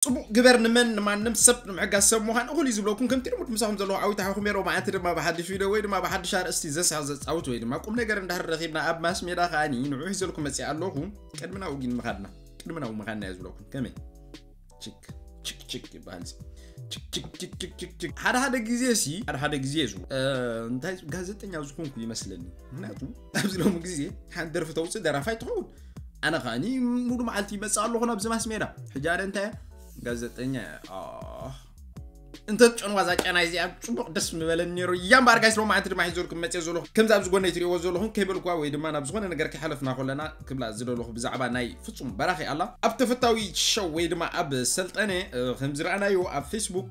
ጽቡቕ ግበር፣ ንመን ንማንም ሰብ ንምሕጋዝ ሰብ ምዃን እኹል እዩ ዝብለኩም። ከምቲ ልሙድ ምሳኹም ዘለኹ ዓዊት ሓኹም የሮ። መዓልቲ ድማ ብሓድሽ ቪድዮ ወይ ድማ ብሓድሽ ኣርእስቲ ዘስሕቕ ዘጻውት ወይ ድማ ቁም ነገር እንድሕር ረኺብና ኣብ ማስ ሜዳ ከኣኒ ንዑ ሒዘልኩም መጺኣ ኣለኹ። ቅድሚ ናብኡ ግን ምኻድና ቅድሚ ናብኡ ምኻድና እየ ዝብለኩም። ከመይ ችክ ችክ ችክ ይበሃል። ችክ ችክ ችክ ችክ ችክ ችክ ሓደ ሓደ ግዜ ሲ ሓደ ሓደ ግዜ ዙ እንታይ ጋዜጠኛ ዝኾንኩ ይመስለኒ። ምክንያቱ ኣብዚ ሎሚ ግዜ ሓንቲ ደርፊ ተውፅእ ደራፋይ ትኸውን። ኣነ ከኣኒ ሙሉ መዓልቲ ይመፅእ ኣለኹ ናብዚ ማስ ሜዳ። ሕጂ ኣነ እንታይ ጋዜጠኛ እንተ ጨንዋ ዛ ጨና እዚኣ ጽቡቕ ደስ ምበለኒ ነይሩ። እያ እምበኣር ጋይስ ሎማዓንቲ ድማ ሒዘልኩም መፅየ ዘለኹ። ከምዚ ኣብዚ ጎነይ ትሪእዎ ዘለኹም ከይበልኩዋ ወይ ድማ ናብ ዝኾነ ነገር ከይሓለፍና ከለና ክብላ ዝደለኹ ብዛዕባ ናይ ፍጹም በራኺ ኣላ። ኣብ ተፈታዊ ሸው ወይ ድማ ኣብ ሰልጠነ ከም ዝረኣናዮ ኣብ ፌስቡክ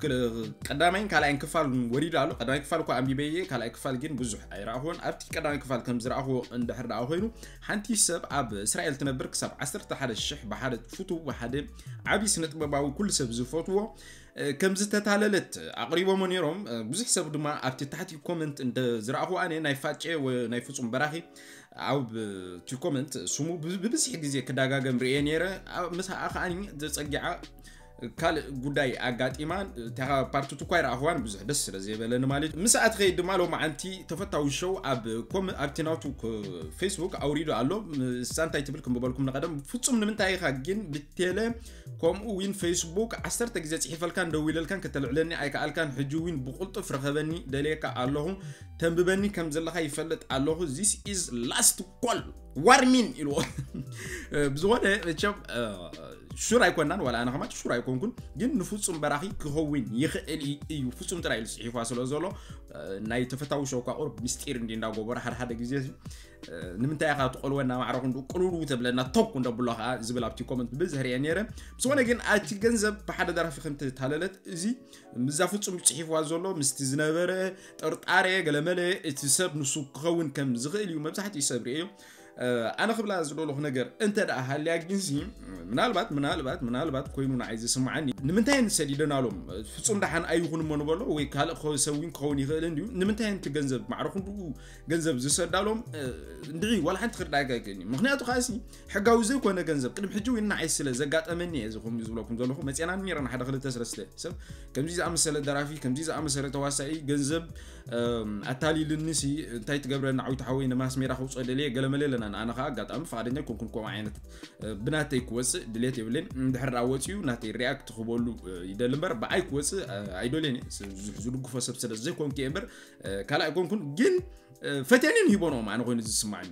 ቀዳማይን ካልኣይን ክፋል ወሪዱ ኣሎ። ቀዳማይ ክፋል እኳ ኣንቢበየ፣ ካልኣይ ክፋል ግን ብዙሕ ኣይረኣኹዎን። ኣብቲ ቀዳማይ ክፋል ከም ዝረኣኹዎ እንድሕር ደኣ ኮይኑ ሓንቲ ሰብ ኣብ እስራኤል ትነብር ክሳብ ዓሰርተ ሓደ ሽሕ ብሓደ ፍቱው ብሓደ ዓብዪ ስነ ጥበባዊ ኩሉ ሰብ ዝፈትዎ ከም ዝተታለለት ኣቕሪቦሞ ነይሮም። ብዙሕ ሰብ ድማ ኣብቲ ታሕቲ ኮመንት እንተ ዝረኣኹ ኣነ ናይ ፋጨ ናይ ፍጹም በራኺ ኣብ እቲ ኮመንት ስሙ ብብዝሒ ግዜ ክዳጋገም ርእየ ነይረ። ምስኣ ከኣ ዘጸጊዓ ካልእ ጉዳይ ኣጋጢማ እታ ፓርትቱ እኳ ይረኣኽዋን ብዙሕ ደስ ስለ ዘይበለኒ ማለት እዩ። ምስኣ ትኸይድ ድማ ሎማዓንቲ ተፈታዊ ሸው ኣብ ኮም ኣብቲ ናቱ ፌስቡክ ኣውሪዱ ኣሎ። ንሳ እንታይ ትብል ክንብበልኩም ንቐደም ፍጹም ንምንታይ ኢኻ ግን ብቴለ ከምኡ እውን ፌስቡክ ዓሰርተ ግዜ ጽሒፈልካን ደዊለልካን ከተልዕለኒ ኣይከኣልካን። ሕጂ እውን ብቕልጡፍ ርኸበኒ ደልየካ ኣለኹ። ተንብበኒ ከም ዘለኻ ይፈልጥ ኣለኹ። This is last call warning ኢልዎ። ብዝኾነ መቸም ሹር ኣይኮናን ዋላ ኣነ ከማን ሹር ኣይኮንኩን፣ ግን ንፍጹም በራኺ ክኸውን ይኽእል እዩ። ፍጹም ጥራይ ኢሉ ጽሒፋ ስለ ዘሎ ናይ ተፈታዊ ሸው እኳ ቁሩብ ምስጢር እንዲ እንዳጎበረ ሓደ ሓደ ግዜ ንምንታይ ኢኻ ትቆልወና ማዕረ ክንዱ ቅሉሉ ተብለና ተኩ እንደብሎ ከዓ ዝብል ኣብቲ ኮመንት ብብዝሒ ሪአ ነይረ። ብዝኾነ ግን ኣቲ ገንዘብ ብሓደ ደራፊ ከም ተታለለት እዚ ምዛ ፍጹም ጽሒፍዋ ዘሎ ምስቲ ዝነበረ ጥርጣሬ ገለመለ እቲ ሰብ ንሱ ክኸውን ከም ዝኽእል እዩ መብዛሕትኡ ሰብ ርእዮ። ኣነ ክብላ ዝደለኹ ነገር እንተ ደኣ ሃልያ ግንሲ ምናልባት ምናልባት ምናልባት ኮይኑ ንዓይ ዝስምዓኒ ንምንታይ ንሰዲደናሎም ፍጹም ደሓን ኣይኹን እሞ ንበሎ ወይ ካልእ ሰብ እውን ክኸውን ይኽእል እንድዩ። ንምንታይ እቲ ገንዘብ ማዕረ ክንድኡ ገንዘብ ዝሰዳሎም እንድዒ ዋላ ሓንቲ ክርዳእካ ኣይክእልን እዩ። ምክንያቱ ከኣሲ ሕጋዊ ዘይኮነ ገንዘብ ቅድሚ ሕጂ እውን ንዓይ ስለ ዘጋጠመኒ እየ ዝኹም ዝብለኩም ዘለኹ። መፅና ነይረና ሓደ ክልተ ሰለስተ ሰብ ከምዚ ዝኣመሰለ ደራፊ ከምዚ ዝኣመሰለ ተዋሳኢ ገንዘብ ኣታሊልኒ ሲ እንታይ ትገብረና ዓዊት ሓወይ ንማስ ሜዳ ከውፅኦ ደልየ ገለመለ ኣለና። ንኣነ ከዓ ኣጋጣሚ ፍቓደኛ ኣይኮንኩን ከምኡ ዓይነት ብናተይ ክወፅእ ድሌት የብለይን። እንድሕር ደኣ ወፂኡ ናተይ ሪያክት ክበሉ ይደሊ እምበር ብኣይ ክወፅእ ኣይደልዮን እየ። ዝድግፎ ሰብ ስለ ዘይኮንኩ እየ እምበር ካልእ ኣይኮንኩን። ግን ፈትየንን ሂቦንኦም ኣነ ኮይኑ ዝስማዓኒ።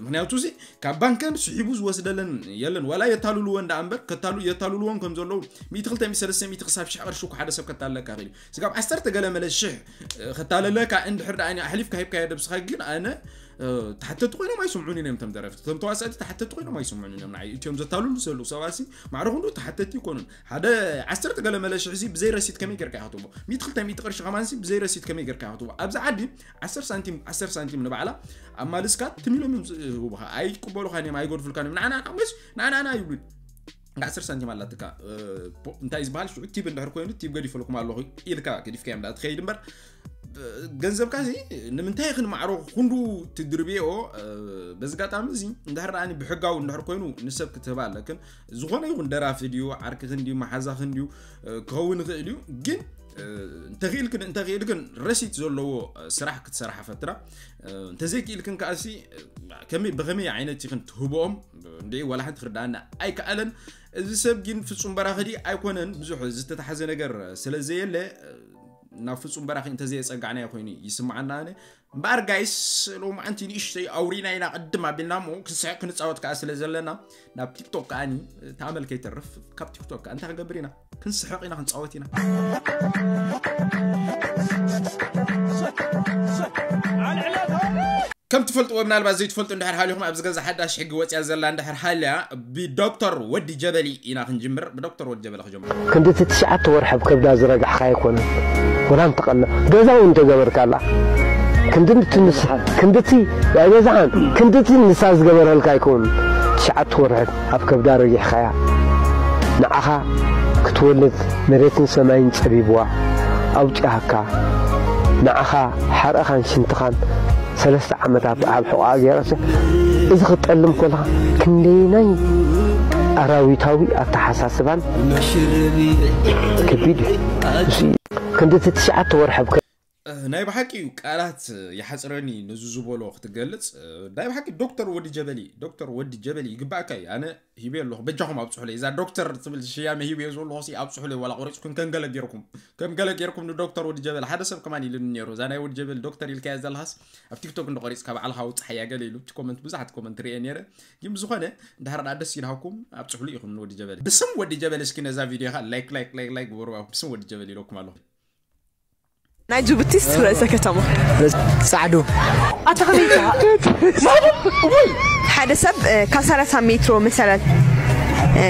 ምክንያቱ እዚ ካብ ባንከን ስሒቡ ዝወስደለን የለን ዋላ የታልልወን ደኣ እምበር ከታሉ የታልልወን ከም ዘለዉ ሚእቲ ክልተ ሚእቲ ሰለስተ ሚእቲ ክሳብ ሽሕ ቅርሺ እኮ ሓደ ሰብ ከታልለካ ይኽእል እዩ። ስጋብ ዓሰርተ ገለ መለ ሽሕ ከታልለካ እንድሕር ደኣ ኣሕሊፍካ ሂብካዮ ደብስኻ ግን ኣነ ተሓተቲ ኮይኖም ኣይስምዑን እዮም። ተም ደረፍቲ ተም ተዋሳእቲ ተሓተቲ ኮይኖም ኣይስምዑን እዮም። ንዓይ እትዮም ዘታልሉ ዘለዉ ሰባሲ ማዕረ ክንዱ ተሓተቲ ይኮኑን። ሓደ ዓሰርተ ገለ መለ ሽሕ ሲ ብዘይ ረሲት ከመይ ጌርካ ኢኻ ትቦ ሚእቲ ክልተ ሚእቲ ቅርሺ ከማንሲ ብዘይ ረሲት ከመይ ጌርካ ኢኻ ትቦ ኣብዚ ዓዲ ዓሰርተ ሳንቲም ዓሰርተ ሳንቲም ንባዕላ ኣማልስካ ትም ኢሎም እዮም ዝህቡኻ። ኣይቅበሉኻን እዮም ኣይገድፉልካን እዮም። ንዓና ንዓና ይብሉ። ዓሰርተ ሳንቲም ኣላትካ እንታይ ዝበሃል ሽዑ ቲብ እንድሕር ኮይኑ ቲብ ገዲፈልኩም ኣለኹ ኢልካ ገዲፍካ እዮም ትኸይድ እምበር ገንዘብካ እዚ ንምንታይ ክንማዕሮ ክንዱ ትድርብዮ። በዚ ኣጋጣሚ እዚ እንድሕር ደኣ ብሕጋዊ እንድሕር ኮይኑ ንሰብ ክትህባ ኣለክን። ዝኾነ ይኹን ደራፊ ድዩ ዓርክኽን ድዩ መሓዛኽን ድዩ ክኸውን ይኽእል እዩ። ግን እንተኽኢልክን እንተኽኢልክን ረሲት ዘለዎ ስራሕ ክትሰርሓ ፈትራ። እንተዘይክኢልክን ከኣሲ ከመይ ብኸመይ ዓይነት ኢኽን ትህብኦም እንድዒ ዋላ ሓንቲ ክርዳኣና ኣይከኣለን። እዚ ሰብ ግን ፍጹም በራኺ ድዩ ኣይኮነን ብዙሕ ዝተታሓዘ ነገር ስለ ዘየለ ናብ ፍጹም በራኺ እንተዘየጸጋዕናዮ ኮይኑ ይስምዓና። ኣነ እምበኣር ጋይስ ሎማዓንቲ ንእሽተይ ኣውሪና ኢና ቅድም ኣቢልና እሞ ክንስሕቕ ክንጻወት ከኣ ስለ ዘለና ናብ ቲክቶክ ከኣኒ ተኣመል ከይተርፍ ካብ ቲክቶክ ከኣ እንታይ ክንገብር ኢና? ክንስሕቕ ኢና ክንጻወት ኢና። ከም ትፈልጥዎ ምናልባት ዘይትፈልጡ እንድሕር ሃሊኹም ኣብዚ ገዛ ሓዳሽ ሕጊ ወፅያ ዘላ እንድሕር ሃልያ ብዶክተር ወዲ ጀበሊ ኢና ክንጅምር። ብዶክተር ወዲ ጀበሊ ክጀምር። ክንድቲ ትሽዓተ ወርሒ ኣብ ከብዳ ዝረጋሕካ ኣይኮነን ወላ እንተቐለ ገዛ እውን እንተገበርካላ ክንድቲ ንሳ ክንድቲ ኣይበዛሓን ክንድቲ ንሳ ዝገበረልካ ኣይከውንን። ትሽዓተ ወርሒ ኣብ ከብዳ ረጊሕካያ ንዓኻ ክትወልድ መሬትን ሰማይን ጸቢብዋ ኣውጺኣካ ንዓኻ ሓርቕኻን ሽንትኻን ሰለስተ ዓመታት ኣብ ሕቖኣ ገይራሲ እዚ ክትጠልም ከለኻ ክንደይናይ ኣራዊታዊ ኣተሓሳስባን ከቢድ እዩ። ክንዲ እቲ ትሽዓተ ወርሒ ኣብ ናይ ብሓቂ እዩ፣ ቃላት ይሓፅረኒ ነዚ ዝበሎ ክትገልፅ። ናይ ብሓቂ ዶክተር ወዲ ጀበሊ፣ ዶክተር ወዲ ጀበሊ ይግባእካ እዩ። ኣነ ሂበ ኣለኹ፣ በጃኹም ኣብፅሑለይ። እዛ ዶክተር ትብል ሽያመ ሂበ ዘለኹ ሲ ኣብፅሑለይ፣ ዋላ ቆሪፅኩም ከም ገለ ጌርኩም፣ ከም ገለ ጌርኩም ንዶክተር ወዲ ጀበሊ። ሓደ ሰብ ከማን ኢሉኒ ነይሩ፣ እዛ ናይ ወዲ ጀበሊ ዶክተር ኢልካያ ዘለኻስ ኣብ ቲክቶክ እንዶ ቆሪፅካ ባዕልኻ ውፅሓያ ገለ ኢሉ፣ እቲ ኮመንት፣ ብዙሓት ኮመንት ሪኤ ነይረ። ግን ብዝኾነ እንድሕር ደኣ ደስ ኢልሃኩም ኣብፅሑሉ ኢኹም ንወዲ ጀበሊ። ብስም ወዲ ጀበሊ እስኪ ነዛ ቪድዮ ኢኻ ላይክ ላይክ ላይክ ላይክ ግበሩ። ብስም ወዲ ጀበሊ ኢለኩም ኣለኹ። ናይ ጅቡቲስ ርእሰ ከተማ ጻዕዱ ኣታ ከመይ ኢኻ? ሓደ ሰብ እ፣ ካብ ሰላሳ ሜትሮ መሰላል እ፣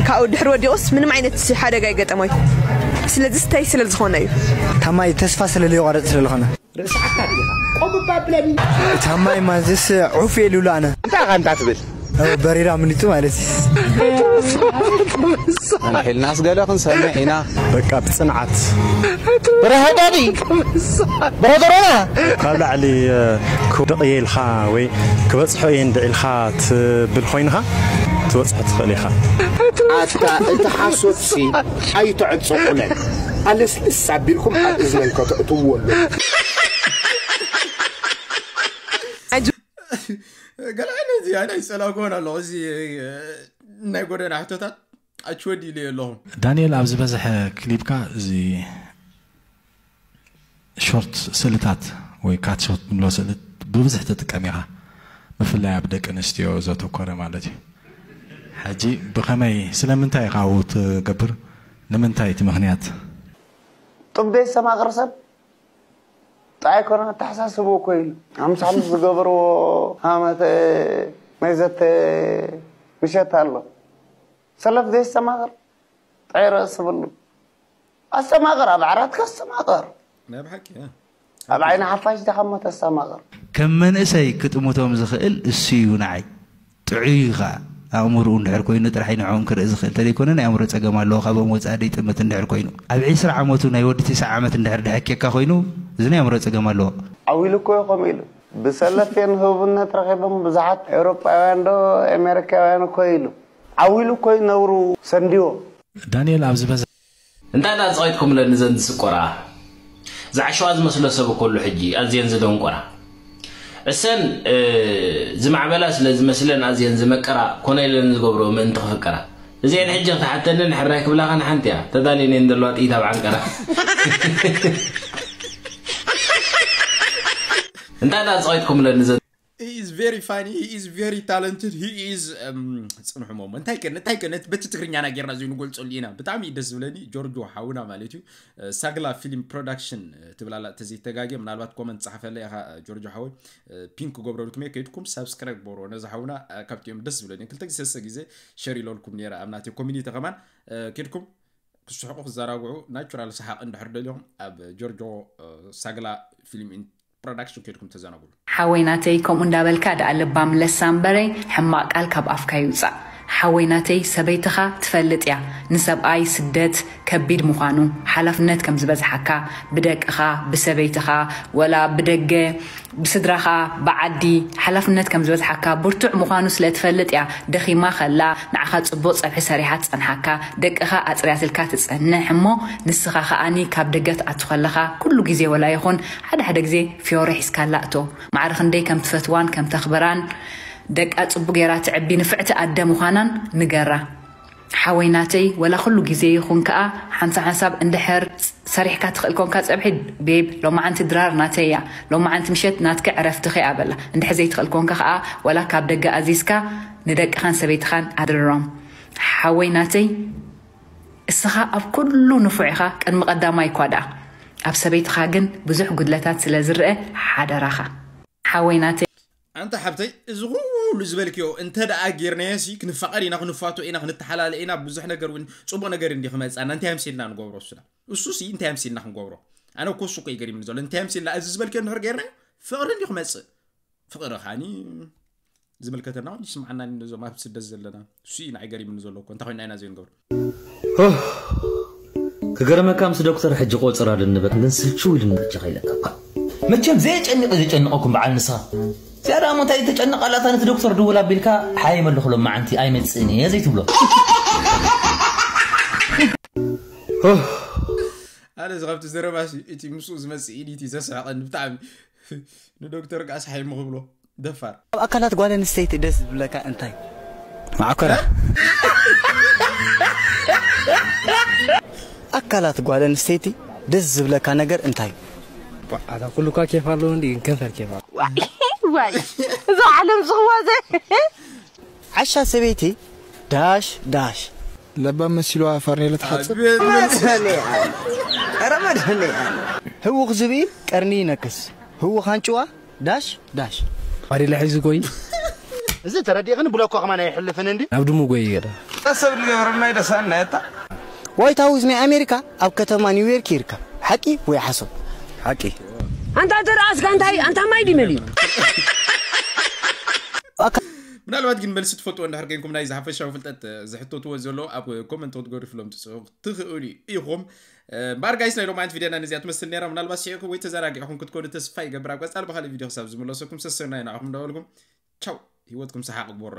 ካብኡ ድሕሪ ወዲቑስ ምንም ዓይነት ሓደጋ ኣይገጠሞይ። ስለዚ ስተይ ስለ ዝኾነ እዩ። ታማይ ተስፋ ስለ ዘይቋረጽ ስለ ዝኾነ ርእስዓካ ዲኻ ቆብባ ብለኒ ታማይ ማዝስ ዑፍ የልብሉ ኣነ እንታይ ኢኻ እንታ ትብል በሪራ ምኒቱ ማለት እዩ ንሕልናስ ገለ ክንሰምዕ ኢና በቃ ብፅንዓት ብረሃዳዲ ብረሃደሮና ካብ ላዕሊ ክውድቕ እየ ኢልካ ወይ ክበፅሖ እየ እንድዒ ኢልካ ትብል ኮይንካ ትበፅሖ ትኽእል ኢኻ ኣታ እቲ ሓሶትሲ ኣይተዕፀቑለን ኣለስልስ ኣቢልኩም ኣብ እዝነን ከተእትውዎ ኣለኩም ገለ ዓይነት እዚኣ ናይ ፀላእኩዎን ኣለኹ እዚ ናይ ጎደና ሕቶታት ኣችወዲ ኢለ ኣለኹ ዳንኤል ኣብ ዝበዝሐ ክሊፕካ እዚ ሾርት ስእልታት ወይ ካት ሾት ንብሎ ስእልት ብብዝሕ ትጥቀም ኢኻ ብፍላይ ኣብ ደቂ ኣንስትዮ ዘተኮረ ማለት እዩ ሕጂ ብኸመይ ስለምንታይ ኢኻ ኣብኡ ትገብር ንምንታይ እቲ ምኽንያት ጥብ ዘይስተማቕር ሰብ ጥዓይ ኮነ ኣተሓሳስብኡ እኮ ኢሉ ሓምሳ ሓሙስ ዝገበርዎ ሃመተ ናይ ዘተ ምሸት ኣሎ ሰለፍ ዘይስተማቕር ጥዓይ ርእሲ ብሉ ኣስተማቕር ኣብ ዓራትካ ኣስተማቕር ናይ ብሓቂ ኣብ ዓይኒ ሓፋሽ ዲኻ እሞ ተስተማቕር ከም መንእሰይ ክጥምቶም ዝኽእል እሱ እዩ ንዓይ ጥዑይ እዩ ኸዓ ኣእምርኡ እንድሕር ኮይኑ ጥራሕ እዩ ንዕኦም ክርኢ ዝኽእል እንተዘይኮነ ናይ ኣእምሮ ፀገም ኣለዎ ካብኦም ወፃኢ ደይጥምት እንድሕር ኮይኑ ኣብ ዒስራ ዓመቱ ናይ ወዲ ቲስዓ ዓመት እንድሕር ድሕኬካ ኮይኑ እዚ ናይ ኣእምሮ ፀገም ኣለዎ ዓው ኢሉ እኮ እዩ ከምኡ ኢሉ ብሰለፍየን ህቡብነት ረኺቦም ብዙሓት ኤውሮጳውያን ዶ ኣሜሪካውያን እኮ ኢሉ ዓው ኢሉ እኮ እዩ ነብሩ ሰንድዎ ዳንኤል ኣብ ዝበዝሐ እንታይ ደኣ ዝቐይጥኩምለን እዘን ዝስቆራ ዝዓሸዋ ዝመስሎ ሰብ እኮ ኣሎ ሕጂ ኣዝየን ዝደንቆራ እሰን ዝማዕበላ ስለ ዝመስለን ኣዝየን ዝመቀራ ኮነ ኢለን ዝገብርኦ ምእንቲ ክፍቀራ እዚአን ሕጂ ክትሓተኒ ንሕራይ ክብላኻ ንሓንቲ እያ ተዳልየን እየን ዘለዋ ጥይት ኣብ ዓንቀራ እንታይ ደኣ ዝቐይጥኩምለን እዘን He is very funny, he is very talented, he is um, ፅንሑ ሞ እንታይ ከ እንታይ ከ በቲ ትግርኛና ጌርና እዚ ንገልፀሉ ኢና ብጣዕሚ እዩ ደስ ዝብለኒ ጆርጆ ሓውና ማለት እዩ ሳግላ ፊልም ፕሮዳክሽን ትብላላ ተዘይተጋግየ ምናልባት ኮመንት ፃሓፈለ ኢኻ ጆርጆ ሓወይ ፒንክ ገብረልኩም እየ ከይድኩም ሳብስክራይብ ገብሮ ነዚ ሓውና ካብቲ እዮም ደስ ዝብለኒ ክልተ ግዜ ሰሰ ግዜ ሸር ኢለልኩም ነረ ኣብ ናተይ ኮሚኒቲ ከማን ከይድኩም ክስሕቁ ክዘናግዑ ናቹራል ሰሓቕ እንድሕር ደልዮም ኣብ ጆርጆ ሳግላ ፊልም ፕሮዳክሽን ከይድኩም ተዘናግዑ። ሓወይ ናተይ ከምኡ እንዳበልካ ደኣ ለባም ለሳም በረይ ሕማቕ ቃል ካብ ኣፍካ ይውጻእ ሓወይ ናተይ ሰበይትኻ ትፈልጥ እያ ንሰብኣይ ስደት ከቢድ ምዃኑ ሓላፍነት ከም ዝበዝሓካ ብደቅኻ ብሰበይትኻ ወላ ብደገ ብስድራኻ ብዓዲ ሓላፍነት ከም ዝበዝሓካ ብርቱዕ ምዃኑ ስለ ትፈልጥ እያ ደኺማ ከላ ንዓኻ ጽቡቕ ጸብሒ ሰሪሓ ትጸንሓካ ደቅኻ ኣጽርያትልካ ትጸንሕ እሞ ንስኻ ከኣኒ ካብ ደገ ትኣቱ ከለኻ ኩሉ ግዜ ወላ ይኹን ሓደ ሓደ ግዜ ፍዮሪ ሒዝካላ እቶ ማዕረ ክንደይ ከም ትፈትዋን ከም ተኽብራን ደቃ ጽቡቕ ጌራ ትዕቢ ንፍዕቲ ኣደ ምዃናን ንገራ ሓወይ ናተይ ወላ ኩሉ ግዜ ይኹን ከኣ ሓንሳብ ሓንሳብ እንድሕር ሰሪሕካ ትኽእል ኮንካ ጸብሒ ቤብ ሎማዓንቲ ድራር ናተይ እያ ሎማዓንቲ ምሸት ናትኪ ዕረፍትኺ እያ በላ እንድሕር ዘይትኽእል ኮንካ ከኣ ወላ ካብ ደገ ኣዚዝካ ንደቅኻን ሰበይትኻን ኣድርሮም ሓወይ ናተይ እስኻ ኣብ ኩሉ ንፉዕ ኢኻ ቅድሚ ቀዳማይ እኳ ደኣ ኣብ ሰበይትኻ ግን ብዙሕ ጉድለታት ስለ ዝርአ ሓደራኻ ሓወይ ናተይ ኣንታ ሓብተይ እዚ ኩሉ ዝበልክዮ እንተ ደኣ ጌርናዮ ሲ ክንፋቐር ኢና ክንፋቶ ኢና ክንተሓላለ ኢና ብዙሕ ነገር እውን ጽቡቕ ነገር እንዲ ክመጽኣና እንታይ ኣምሲልና ንገብሮ እሱና እሱ ሲ እንታይ ኣምሲልና ክንገብሮ ኣነ እኮ እሱ እኮ ይገሪምኒ ዘሎ እንታይ ኣምሲልና እዚ ዝበልክዮ እንድሕር ጌርናዮ ፍቕሪ እንዲ ክመጽእ ፍቕሪ ኻኒ ዝምልከተና እውን ይስምዓና ነዞም ኣብ ስደት ዘለና እሱ እዩ ንዓይ ገሪምኒ ዘሎ እኮ እንታይ ኮይና ኢና ዘይንገብሮ ክገርመካ ምስ ዶክተር ሕጂ ቆፅር ኣልኒ በቃ ግን ስልችው ኢልኒ በጃኻ ኢለካ እኳ መቸም ዘየጨንቕ ዘጨንቐኩም በዓል ንስኻ እዚኣ ደኣ እሞ እንታይ ተጨንቕ ኣላ? እታ ነቲ ዶክተር ድውል ኣቢልካ ሓይመልኹ ሎም መዓንቲ ኣይመጽእን እየ ዘይትብሎ። ኣነ እዚ ካብቲ ዘረባሲ እቲ ምስኡ ዝመጽእ ኢድ እቲ ዘስሕቐኒ ብጣዕሚ ንዶክተር ቃስ ሓይሙ ክብሎ ደፋር ኣብ ኣካላት ጓል ኣንስተይቲ ደስ ዝብለካ እንታይ? ማዕኮራ። ኣካላት ጓል ኣንስተይቲ ደስ ዝብለካ ነገር እንታይ? ኣታ ኩሉ እኳ ኬፍ ኣለዎ እንዲ ግን ከንፈር ኬፍ ኣለዎ። ዋይ እዛ ዓለም ዝኽዋ ዘ ዓሻ ሰበይቲ ዳሽ ዳሽ ለባም መሲልዋ ፋርኔሎ ትሓጽብ። ኧረ መድኃኔዓለም። ህውኽ ዝብኢ ቀርኒ ይነክስ፣ ህውኽ ኣንጭዋ ዳሽ ዳሽ። ባዴላ ሒዙ ጎይ እዚ ተረዲእኽን ብሎኮ ከማን ኣይሕልፍን እንዲ ናብ ድሙ ጎይ ገለ ሰብ ዝገበረና ይደሳና የታ ዋይት ሃውስ ናይ ኣሜሪካ ኣብ ከተማ ኒውዮርክ ይርከብ። ሓቂ ወይ ሓሶት? ሓቂ። ኣንታ ተረኣስካ እንታይ ኣንታ ማይ ድመል እዩ ምናልባት ግን መልሲ ትፈልጥዎ እንድሕር ኮይንኩም ናይ ዝሓፈሻዊ ፍልጠት ዝሕተትዎ ዘሎ ኣብ ኮመንት ክትገድፍሎም ትጽሑ ትኽእሉ ኢኹም። እምበኣር ጋይስ ናይ ሎማዓንቲ ቪድዮና ነዚኣ ትመስል ነይራ። ምናልባት ስሒቕኩም ወይ ተዘናጊዕኹም ክትኮኑ ተስፋ ይገብር። ኣብ ቀጻሊ ብኻልእ ቪድዮ ክሳብ ዝምለሰኩም ሰሰናዩ ንዓኹም እንዳበልኩም ቻው። ህይወትኩም ሰሓቕ ግበሮ።